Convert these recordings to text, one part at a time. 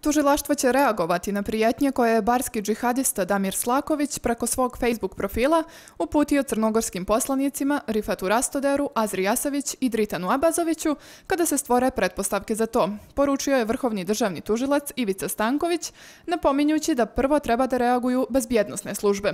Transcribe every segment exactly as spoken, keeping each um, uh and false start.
Tužilaštvo će reagovati na prijetnje koje je barski džihadista Damir Slaković preko svog Facebook profila uputio crnogorskim poslanicima Rifatu Rastoderu, Azri Jasavić i Dritanu Abazoviću kada se stvore pretpostavke za to, poručio je vrhovni državni tužilac Ivica Stanković, napominjući da prvo treba da reaguju bezbjednosne službe.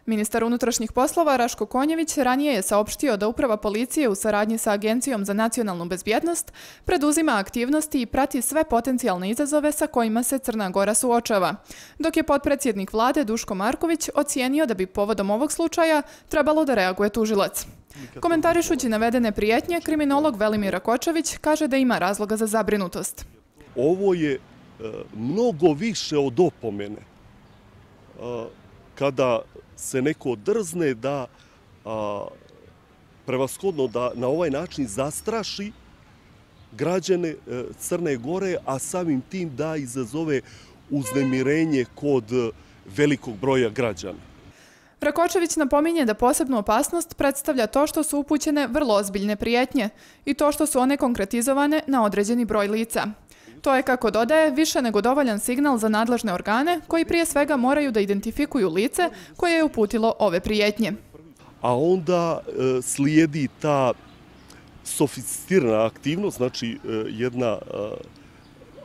Ministar unutrašnjih poslova Raško Konjević ranije je saopštio da Uprava policije u saradnji sa Agencijom za nacionalnu bezbjednost preduzima aktivnosti i prati sve potencijalne izazove sa kojima se Crna Gora suočava, dok je potpredsjednik vlade Duško Marković ocijenio da bi povodom ovog slučaja trebalo da reaguje tužilac. Komentarišući navedene prijetnje, kriminolog Velimir Rakočević kaže da ima razloga za zabrinutost. Ovo je e, mnogo više od opomene. E, kada se neko drzne da a, prevashodno da na ovaj način zastraši građane e, Crne Gore, a samim tim da izazove uznemirenje kod velikog broja građana. Rakočević napominje da posebnu opasnost predstavlja to što su upućene vrlo ozbiljne prijetnje i to što su one konkretizovane na određeni broj lica. To je, kako dodaje, više nego dovoljan signal za nadležne organe koji prije svega moraju da identifikuju lice koje je uputilo ove prijetnje. A onda e, slijedi ta sofisticirana aktivnost, znači e, jedna e,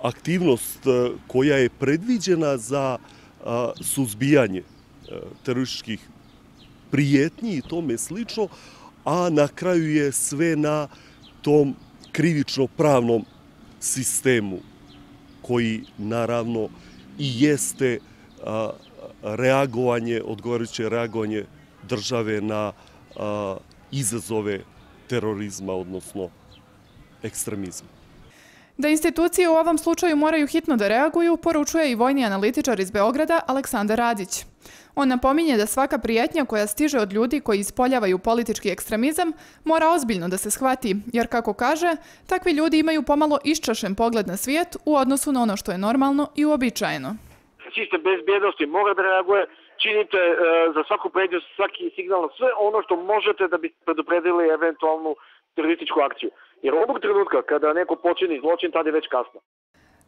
aktivnost e, koja je predviđena za e, suzbijanje e, terorističkih prijetnji i tome slično, a na kraju je sve na tom krivično-pravnom sistemu koji naravno i jeste a, reagovanje, odgovarajuće reagovanje države na a, izazove terorizma, odnosno ekstremizma. Da institucije u ovom slučaju moraju hitno da reaguju, poručuje i vojni analitičar iz Beograda Aleksandar Radić. On napominje da svaka prijetnja koja stiže od ljudi koji ispoljavaju politički ekstremizam mora ozbiljno da se shvati, jer, kako kaže, takvi ljudi imaju pomalo iščašen pogled na svijet u odnosu na ono što je normalno i uobičajeno. Sistem bezbjednosti mora da reaguje, činite e, za svaku prijetnju, svaki signal, sve ono što možete da bi predupredili eventualnu terorističku akciju. Jer ovog trenutka kada neko počini zločin, tada je već kasno.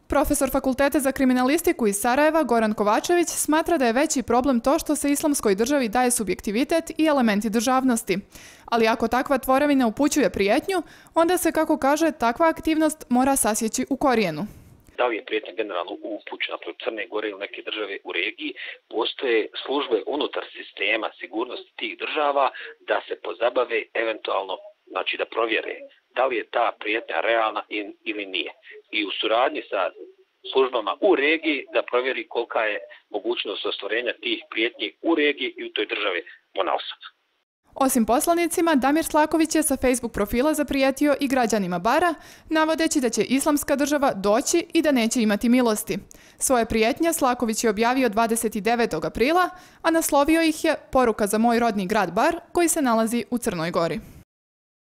Profesor Fakulteta za kriminalistiku iz Sarajeva, Goran Kovačević, smatra da je veći problem to što se islamskoj državi daje subjektivitet i elementi državnosti. Ali ako takva tvorevina upućuje prijetnju, onda se, kako kaže, takva aktivnost mora sasjeći u korijenu. Da li je prijetnja generalno upućena protiv Crne Gore ili neke države u regiji, postoje službe unutar sistema sigurnosti tih država da se pozabave eventualno, znači da provjere da li je ta prijetnja realna ili nije. I u suradnji sa službama u regiji da provjeri kolika je mogućnost ostvarenja tih prijetnji u regiji i u toj državi ponaosob. Osim poslanicima, Damir Slaković je sa Facebook profila zaprijetio i građanima Bara, navodeći da će islamska država doći i da neće imati milosti. Svoje prijetnje Slaković je objavio dvadeset devetog aprila, a naslovio ih je Poruka za moj rodni grad Bar, koji se nalazi u Crnoj Gori.